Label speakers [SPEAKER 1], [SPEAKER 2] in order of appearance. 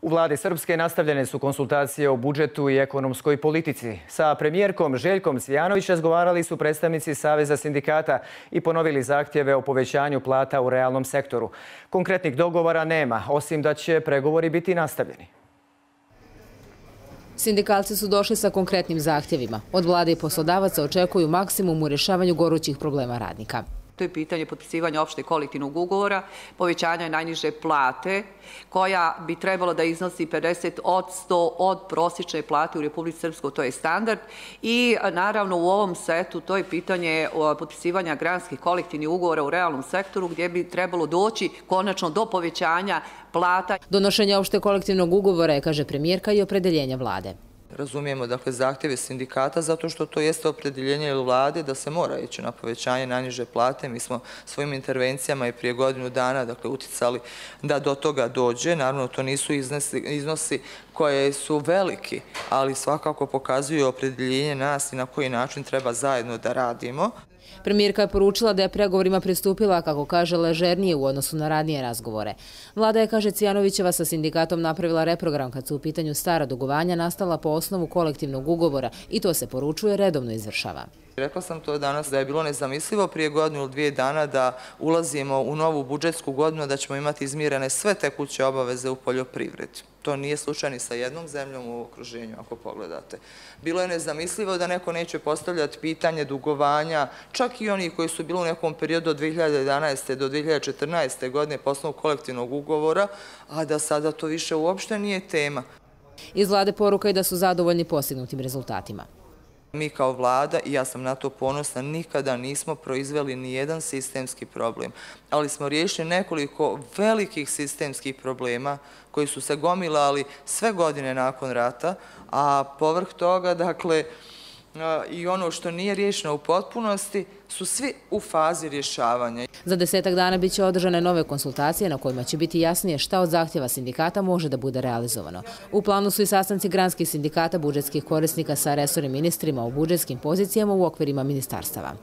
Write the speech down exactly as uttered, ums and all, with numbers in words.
[SPEAKER 1] U vladi Srpske nastavljene su konsultacije o budžetu i ekonomskoj politici. Sa premijerkom Željkom Cvijanović razgovarali su predstavnici Saveza sindikata i ponovili zahtjeve o povećanju plata u realnom sektoru. Konkretnih dogovora nema, osim da će pregovori biti nastavljeni.
[SPEAKER 2] Sindikalci su došli sa konkretnim zahtjevima. Od vlade i poslodavaca očekuju maksimum u rješavanju gorućih problema radnika.
[SPEAKER 3] To je pitanje potpisivanja opšte kolektivnog ugovora, povećanja najniže plate, koja bi trebalo da iznosi pedeset posto od prosječne plate u Republici Srpskoj, to je standard. I naravno u ovom setu to je pitanje potpisivanja granskih kolektivnih ugovora u realnom sektoru, gdje bi trebalo doći konačno do povećanja plata.
[SPEAKER 2] Donošenje opšte kolektivnog ugovora je, kaže premijerka, i opredeljenja vlade.
[SPEAKER 4] Razumijemo dakle zahtjeve sindikata zato što to jeste opredeljenje vlade da se mora ići na povećanje najniže plate. Mi smo svojim intervencijama i prije godinu dana dakle uticali da do toga dođe. Naravno to nisu iznosi, iznosi koje su veliki, ali svakako pokazuju opredeljenje nas i na koji način treba zajedno da radimo.
[SPEAKER 2] Premijerka je poručila da je pregovorima pristupila, kako kaže, ležernije u odnosu na ranije razgovore. Vlada je, kaže Cvijanovićeva, sa sindikatom napravila reprogram kad su u pitanju stara dugovanja nastala po osnovu kolektivnog ugovora i to se poručuje redovno izvršava.
[SPEAKER 4] Rekla sam to danas da je bilo nezamislivo prije godinu ili dvije dana da ulazimo u novu budžetsku godinu, da ćemo imati izmirene sve tekuće obaveze u poljoprivredi. To nije slučaj ni sa jednom zemljom u okruženju, ako pogledate. Bilo je nezamislivo da neko neće postavljati pitanje dugovanja, čak i oni koji su bili u nekom periodu od dvije hiljade jedanaeste do dvije hiljade četrnaeste. godine po osnovu kolektivnog ugovora, a da sada to više uopšte nije tema.
[SPEAKER 2] Iz vlade poruka je da su zadovoljni postignutim rezultatima.
[SPEAKER 4] Mi kao vlada, i ja sam na to ponosna, nikada nismo proizveli ni jedan sistemski problem, ali smo riješili nekoliko velikih sistemskih problema koji su se gomilali sve godine nakon rata, a povrh toga, dakle, i ono što nije riješeno u potpunosti su svi u fazi rješavanja.
[SPEAKER 2] Za desetak dana biće održane nove konsultacije na kojima će biti jasnije šta od zahtjeva sindikata može da bude realizovano. U planu su i sastanci granskih sindikata budžetskih korisnika sa resornim ministrima u budžetskim pozicijama u okvirima ministarstava.